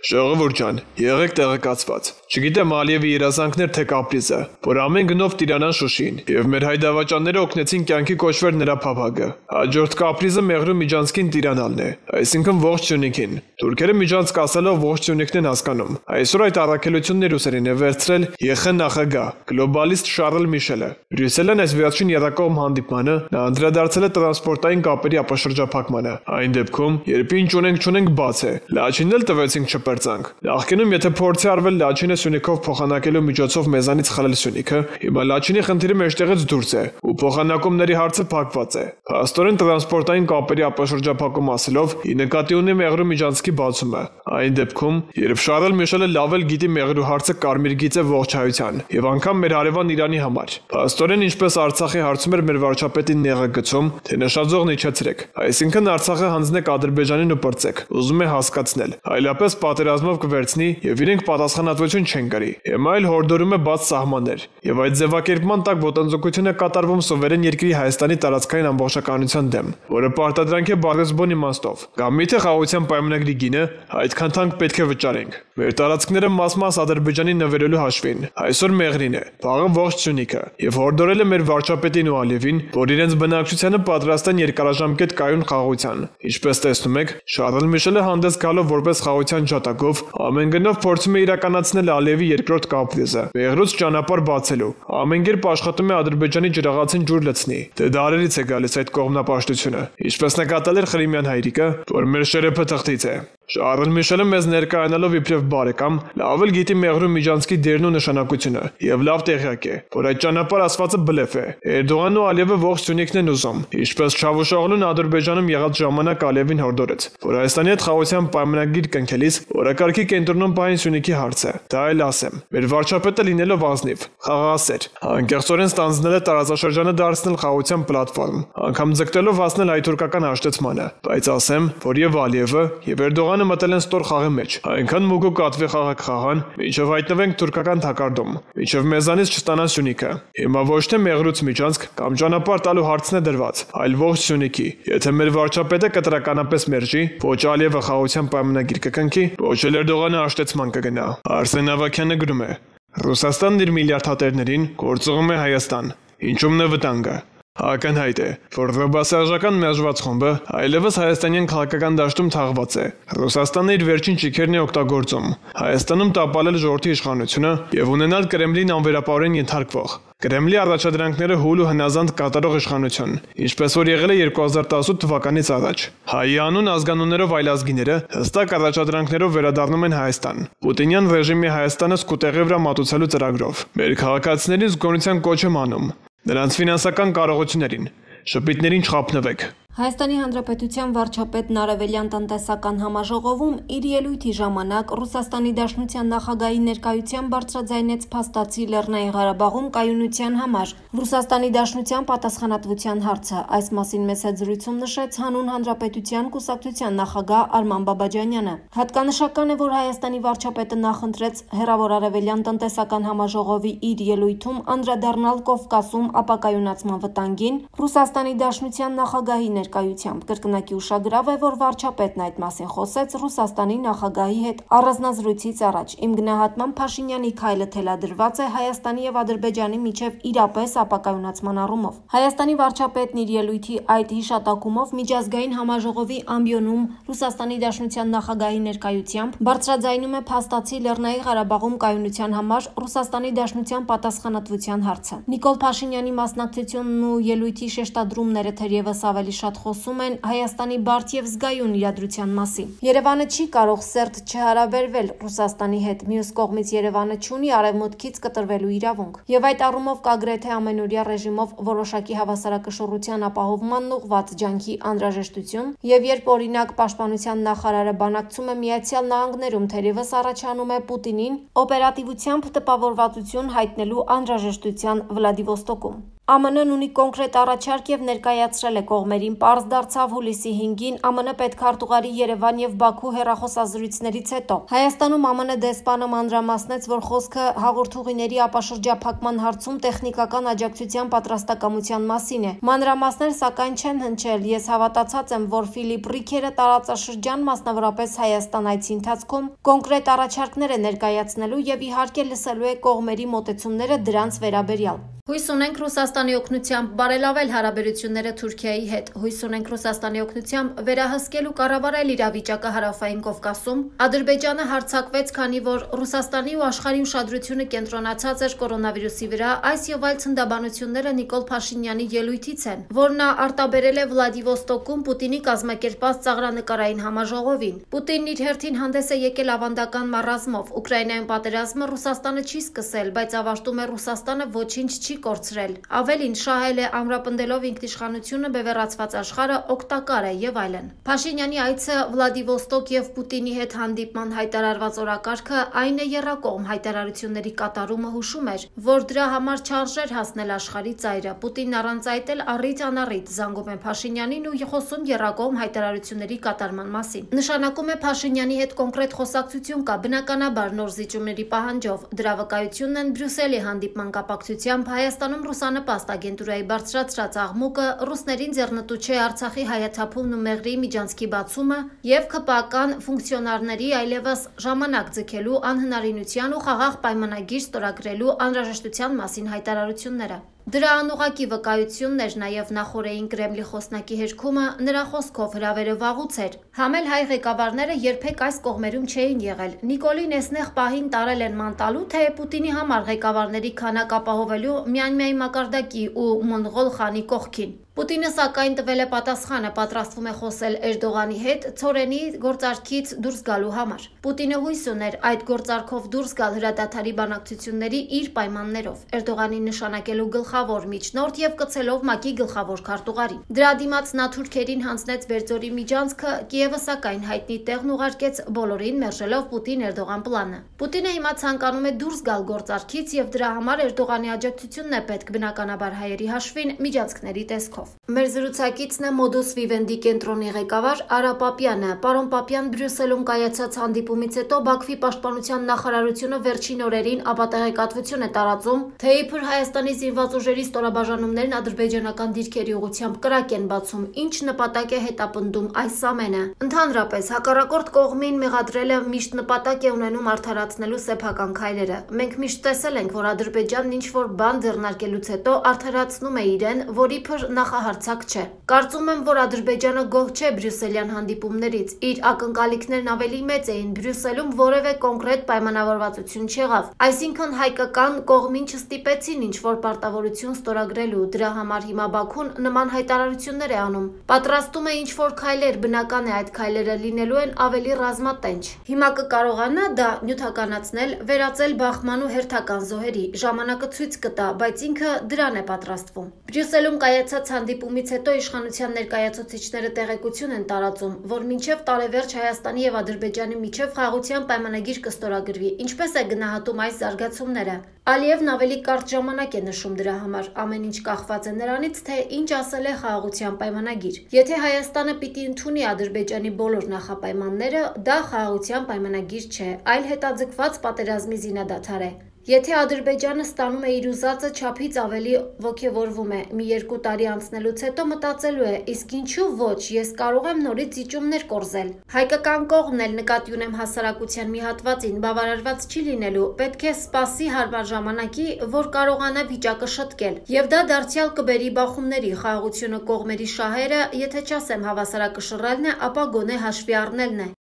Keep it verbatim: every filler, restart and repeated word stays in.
Ժողովուրդ ջան, եղեք տեղեկացված։ Չգիտեմ Ալիևի երազանքներ թե կապրիզը, որ ամեն գնով տիրանան Շուշին, եւ մեր հայդավաճանները օգնեցին կյանքի կոչվեր նրա փափագը։ Հաջորդ կապրիզը Մեղրու Միջանցքին տիրանալն է, այսինքն ողջ Սյունիքին։ Թուրքերը Միջանցք ասելով ողջ Սյունիքն են հասկանում։ Այսօր այդ առաքելությունն Ռուսերին է վերցրել ԵԽ նախագահ, գլոբալիստ Շարլ Միշելը։ Բրյուսելն այս վերջին եռակողմ հանդիպմանը նա անդրադարձել է տրանսպորտային կապերի ապաշրջափակմանը։ Այն դեպքում, երբ ինչ ունենք չունենք բաց է, Լաչինն էլ տվեցինք չպրծանք։ Նախկինում եթե փորձի արվել Լաչինը Սյունիքով փոխանակելու միջոցով մեզանից խլել Սյունիքը, հիմա Լաչինի խնդիրը մեջտեղից դուրս է ու փոխանակումների հարցը փակված է։ Փաստորեն տրանսպորտային կապերի ապաշրջափակում ասելով ի նկատի ունի Մեղրու Միջանցքի բացումը։ Այն դեպքում, երբ Շարլ Միշելը լավ էլ գիտի Մեղրու հարցը կարմիր գիծ է ողջ հայության եւ անգամ մեր հարևան Իրանի համար։ Փաստորեն ինչպես Արցախի հարցում էր մեր վարչապետին նեղը գցում, թե նշաձողն իջեցրեք։ Այսինքն Արցախը հանձնեք Ադրբեջանին ու պրծեք։ Ուզում է հասկացնել, այլապես պատերազմով կվերցնի եւ իրենք պատասխանատվություն չեն կրի։ Հիմա այլ հորդորում է բաց սահմաններ եւ այդ ձևակերպման տակ ոտնձգություն է կատարվում սուվերեն երկրի Հայաստանի տարածքային ամբողջականության դեմ, որը պարտադրանք է բարձրացբոն իմաստով։ Կամ միթե խաղաղության պայմանագրի գինը այդքան թանկ պետք է վճարենք։ Մեր տարածքները մաս-մաս Ադրբեջանի նվերելու հաշվին։ Այսօր Մեղրին է, վաղը ողջ Սյունիքը եւ հորդորել է մեր վարչապետին ու Ալիևին, որ իրենց բնակչությանը պատրաստ են երկարաժամկետ կայուն խաղաղության։ Ինչպես տեսնում եք, Շարլ Միշելը հանդես գալով որպես խաղաղության ջատագով ամեն գնով փորձում է իրականացնել Ալիևի երկրորդ կապրիզը՝ Մեղրուց ճանապարհ բացելու։ Ամեն կերպ աշխատում է Ադրբեջանի ջրաղացին ջուր լցնի։ Դե դարերից է գալիս այդ կողմնապաշտությունը։ Ինչպես նկատել էր Խրիմյան հայրիկը, որ մեր շերեփը թղթից է։ Շարլ Միշելը մեզ ներկայանալով իբրև բարեկամ, լավ էլ գիտի Մեղրու Միջանցքի դերն ու նշանակությունը եւ լավ տեղյակ է, որ այդ ճանապարհ ասվածը բլեֆ է։ Էրդողանն ու Ալիևը ողջ Սյունիքն են ուզում, ինչպես Չավուշօղլուն Ադրբեջանում եղած ժամանակ Ալիևին հորդորեց, որ Հայաստանի հետ խաղաղության պայմանագիր կնքելիս օրակարգի կենտրոնում պահին Սյունիքի հարցը։ Դա էլ ասեմ, մեր վարչապետը լինելով ազնիվ, խաղաղասեր, անկեղծորեն ստանձնել է տարածաշրջանը դարձնել խաղաղության պլատֆորմ, անգամ ձգտելով հասնել հայ-թուրքական հաշտեցմանը, բայց ասեմ, որ եւ Ալիևը եւ Էրդողանը մտել են ստոր խաղի մեջ, այնքան մուգ ու կատվի խաղ կխաղան, մինչև հայտնվենք թուրքական թակարդում, մինչև մեզանից չստանան Սյունիքը։ Հիմա ոչ թե Մեղրուց Միջանցք կամ ճանապարհ տալու հարցն է դրված, այլ ողջ Սյունիքի։ Եթե մեր վարչապետը կտրականապես մերժի, ոչ Ալիևը խաղաղության պայմանագիր կկնքի, ոչ էլ Էրդողանը հաշտեցման կգնա։ Արսեն Ավագյանը գրում է. Ռուսաստանն իր միլիարդ հատերներին գործողում է Հայաստան։ Ինչումն է վտանգը։ Ակնհայտ է, որ ռոբասարժական մերժված խումբը այլևս հայաստանյան քաղաքական դաշտում թաղված է։ Ռուսաստանը իր վերջին ճիքերն է օգտագործում Հայաստանում տապալել ժողովրդի իշխանությունը եւ ունենալ Կրեմլին անվերապահորեն ենթարկվող Կրեմլի առաջադրանքները հուլ ու հնազանդ կատարող իշխանություն, ինչպես որ եղել է երկու հազար տասութ թվականից առաջ։ Հայի անուն ազգանուններով այլազգիները հստակ առաջադրանքներով վերադառնում են Հայաստան։ Պուտինյան ռեժիմի Հայաստանը սկուտեղի վրա մատուցելու ծրագրով։ Մեր քաղաքացիներին զգոնության կոչ եմ անում, նրանց ֆինանսական կարողություններին, շփիթներին չխափնվեք։ Հայաստանի Հանրապետության վարչապետն Արևելյան տնտեսական համաժողովում իր ելույթի ժամանակ Ռուսաստանի Դաշնության նախագահի ներկայությամբ բարձրաձայնեց փաստացի Լեռնային Ղարաբաղում կայունության համար Ռուսաստանի Դաշնության պատասխանատվության հարցը։ Այս մասին մեծ զրույցում նշեց հանուն Հանրապետության կուսակցության նախագահ Արման Բաբաջանյանը։ Հատկանշական է, որ Հայաստանի վարչապետը նախընտրեց հեռավոր Արևելյան տնտեսական համաժողովի իր ելույթում անդրադառնալ Կովկասում ապակայունացման վտանգին Ռուսաստանի Դաշնության նախագահի ներկայությամբ կրկնակի ուշագրավ է, որ վարչապետն այդ մասին խոսեց Ռուսաստանի նախագահի հետ առանձնազրույցից առաջ։ Իմ գնահատմամբ Փաշինյանի քայլը թելադրված է Հայաստանի եւ Ադրբեջանի միջև իրապես ապակայունացման առումով։ Հայաստանի վարչապետն իր ելույթի այդ հիշատակումով միջազգային համաժողովի ամբիոնում Ռուսաստանի Դաշնության նախագահի ներկայությամբ բարձրաձայնում է փաստացի Լեռնային Ղարաբաղում կայունության համար Ռուսաստանի Դաշնության պատասխանատվության հարցը։ Նիկոլ Փաշինյանի մասնակցությունն ու ելույթի շեշտադրումները թերևս ավելի շատ խոսում են Հայաստանի բարդ եւ զգայուն իրադրության մասին։ Երևանը չի կարող սերտ չհարաբերվել Ռուսաստանի հետ, մյուս կողմից Երևանը չունի արևմուտքից կտրվելու իրավունք։ Եվ այդ առումով կա գրեթե ամենօրյա ռեժիմով որոշակի հավասարակշռության ապահովմանն ուղղված ջանքի անհրաժեշտություն, եւ երբ օրինակ Պաշտպանության նախարարը բանակցում է Միացյալ Նահանգներում, թերևս առաջանում է Պուտինին օպերատիվությամբ տպավորվածություն հայտնելու անհրաժեշտության Վլադիվոստոկում։ Ա Մ Ն-ն ունի կոնկրետ առաջարկ եւ ներկայացրել է կողմերին, պարզ դարձավ հուլիսի հինգին Ա Մ Ն պետքարտուղարի Երևան եւ Բաքու հեռախոսազրույցներից հետո։ Հայաստանում Ա Մ Ն դեսպանը մանրամասնեց, որ խոսքը հաղորդուղիների ապաշրջափակման հարցում տեխնիկական աջակցության պատրաստակամության մասին է։ Մանրամասներ սակայն չեն հնչել։ Ես հավատացած եմ, որ Ֆիլիպ Ռիքերը տարածաշրջան, մասնավորապես Հայաստան այցի ընթացքում կոնկրետ առաջարկներ է ներկայացնելու եւ իհարկե լսելու է կողմերի մոտեցումները դրանց վերաբերյալ։ Հույս ունենք Ռուսաստանի օգնությամբ բարելավել հարաբերությունները Թուրքիայի հետ։ Հույս ունենք Ռուսաստանի օգնությամբ վերահսկել ու կառավարել իրավիճակը Հարավային Կովկասում։ Ադրբեջանը հարձակվեց, քանի որ Ռուսաստանի ու աշխարհի ուշադրությունը կենտրոնացած էր կորոնավիրուսի վրա։ Այս եւ այլ ցնդաբանությունները Նիկոլ Փաշինյանի ելույթից են, որ նա արտաբերել է Վլադիվոստոկում Պուտինի կազմակերպած ծաղրանկարային համաժողովին։ Պուտինն իր հերթին հանդես է եկել ավանդական մառազմով։ Ուկրաինայում պատերազմը Ռուսաստանը չի սկսել, բայց ավարտում է Ռուսաստանը ոչինչ չի կորցրել։ Ավելին շահել է ամրապնդելով ինքնիշխանությունը, բևեռացված աշխարհը օգտակար է եւ այլն։ Փաշինյանի այցը Վլադիվոստոկ եւ Պուտինի հետ հանդիպման հայտարարված օրակարգը այն է եռակողմ հայտարարությունների կատարումը հուշում էր, որ դրա համար չարժեր հասնել աշխարհի ծայրը։ Պուտինն առանց այդ էլ առիթ անառիթ զանգում է Փաշինյանին ու խոսում եռակողմ հայտարարությունների կատարման մասին։ Նշանակում է Փաշինյանի հետ կոնկրետ խոսակցություն կա, բնականաբար նոր զիջումների պահանջով։ Դրա վկայությունն են Բրյուսելի հանդիպման կապակցությամբ Հայաստանում ռուսանպաստ ագենտուրայի բարձրացրած աղմուկը, ռուսներին ձեռնտու չէ Արցախի հայաթափումն ու Մեղրիի միջանցքի բացումը եւ K P A-կան ֆունկցիոնարների այլևս ժամանակ ձգելու անհնարինության ու խաղաղ պայմանագիր ստորագրելու անհրաժեշտության մասին հայտարարությունները։ Դրա անուղղակի վկայությունն էր նաև նախօրեին Կրեմլի խոսնակի հերքումը, նրա խոսքով հրավերը վաղուց էր։ Համել հայ ղեկավարները երբեք այս կողմերում չէին եղել։ Նիկոլին էսնեղ պահին տարել են ման տալու, թե Պուտինի համար ղեկավարների քանակ ապահովելու Միանմյայի մակարդակի ու Մոնղոլ խանի կողքին։ Պուտինը սակայն տվել է պատասխանը, պատրաստվում է խոսել Էրդողանի հետ ցորենի գործարքից դուրս գալու համար։ Պուտինը հույս ուներ այդ գործարքով դուրս գալ հրադադարի բանակցությունների իր պայմաններով, Էրդողանին նշանակելու գլխավոր միջնորդ եւ կցելով ՄԱԿ-ի գլխավոր քարտուղարին։ Դրա դիմաց նա թուրքերին հանձնեց Վերձորի միջանցքը, Կիևը սակայն հայտնի տեղն ուղարկեց բոլորին, մերժելով Պուտին-Էրդողան պլանը։ Պուտինը հիմա ցանկանում է դուրս գալ գործարքից եւ դրա համար Էրդողանի աջակցությունն է պետք, բնականաբար հայերի հաշվին միջանցքների տեսքով։ Մեր զրուցակիցն է Modus Vivendi կենտրոնի ղեկավար Արա Պապյանը։ Պարոն Պապյան, Բրյուսելում կայացած հանդիպումից հետո Բաքվի պաշտպանության նախարարությունը վերջին օրերին ապատեղեկատվություն է տարածում, թե իբր Հայաստանի զինված ուժերի ստորաբաժանումներն ադրբեջանական դիրքերի ուղղությամբ կրակ են բացում, ինչ նպատակ է հետապնդում այս ամենը։ Ընդհանրապես, հակառակորդ կողմին մեղադրելը միշտ նպատակ է ունենում արդարացնելու սեփական քայլերը։ Մենք միշտ տեսել ենք, որ Ադրբեջանն ինչ-որ բան ձեռնարկելուց հետո արդարացնում է իրեն, որ իբր նախահարցակ չէ։ Կարծում եմ, որ Ադրբեջանը գոհ չէ բրյուսելյան հանդիպումներից։ Իր ակնկալիքներն ավելի մեծ էին, Բրյուսելում որևէ կոնկրետ պայմանավորվածություն չեղավ։ Այսինքն հայկական կողմին չստիպեցին ինչ-որ պարտավորություն ստորագրելու, դրա համար հիմա Բաքուն նման հայտարարություններ է անում։ Պատրաստում է ինչ-որ քայլեր, բնական է այդ քայլերը լինելու են ավելի ռազմատենչ։ Հիմա կկարողանա դա նյութականացնել, վերածել բախման ու հերթական զոհերի։ Ժամանակը ցույց կտա, բայց ինքը դրան է պատրաստվում։ Բրյուսելում կայացած հանդիպումից հետո իշխանության ներկայացուցիչները տեղեկություն են տարածում, որ մինչև տարեվերջ Հայաստանի եւ Ադրբեջանի միջև խաղաղության պայմանագիր կստորագրվի։ Ինչպես է գնահատում այս զարգացումները։ Ալիևն ավելի կարճ ժամանակ է նշում դրա համար, ամեն ինչ կախված է նրանից, թե ինչ ասել է խաղաղության պայմանագիր։ Եթե Հայաստանը պիտի ընդունի Ադրբեջանի բոլոր նախապայմանները, դա խաղաղության պայմանագիր չէ, այլ հետաձգված պատերազմի զինադադար է։ Եթե Ադրբեջանը ստանում է իր ուզածը չափից ավելի ոգևորվում է, մի երկու տարի անցնելուց հետո մտածելու է, իսկ ինչու ոչ, ես կարող եմ նորից զիջումներ կորզել։ Հայկական կողմն էլ նկատի ունեմ հասարակության մի հատվածին բավարարված չի լինելու, պետք է սպասի հարմար ժամանակի, որ կարողանա վիճակը շտկել։ Եվ դա դարձյալ կբերի բախումների, խաղաղությունը կողմերի շահերը, եթե չասեմ հավասարակշռելն է, ապա գոնե հաշվի առնելն է։